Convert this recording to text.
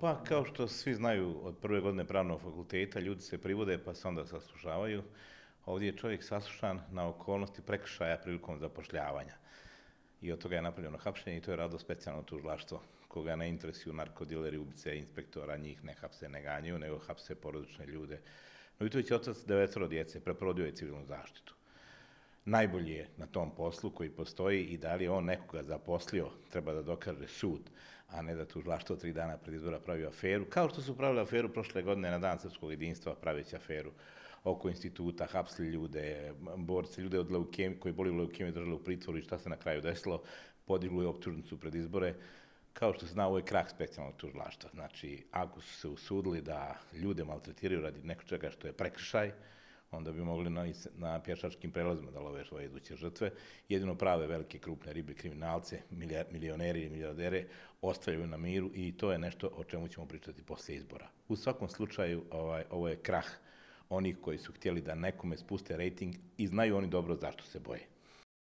Pa kao što svi znaju od prve godine pravnog fakulteta, ljudi se privode pa se onda saslušavaju. Ovdje je čovjek saslušan na okolnosti prekršaja prilikom zapošljavanja. I od toga je napravljeno hapšenje i to je radilo specijalno tužilaštvo, koga ne interesuju narkodileri, ubice, inspektora, njih ne hapse, ne ganjaju, nego hapse porodične ljude. Novitović je otac 9 djece, preporodio je civilnu zaštitu. Najbolji je na tom poslu koji postoji i da li je on nekoga zaposlio, treba da dokaže sud, a ne da tužilaštvo 3 dana pred izbora pravi aferu, kao što su pravili aferu prošle godine na Dan srpskog jedinstva, praveći aferu oko instituta, hapsili ljude, borci, ljude od leukemije, koji boli u leukemiji držali u pritvoru i šta se na kraju desilo, podigli optužnicu pred izbore. Kao što se zna, ovo je krah specijalnog tužilaštva. Znači, ako su se usudili da ljude maltretiraju radi nekog čega što je prekršaj, onda bi mogli na pješačkim prelazima da love svoje iduće žrtve. Jedino prave velike krupne ribe, kriminalce, milioneri i milijardere ostavljaju na miru i to je nešto o čemu ćemo pričati posle izbora. U svakom slučaju, ovo je krah onih koji su htjeli da nekome spuste rejting i znaju oni dobro zašto se boje.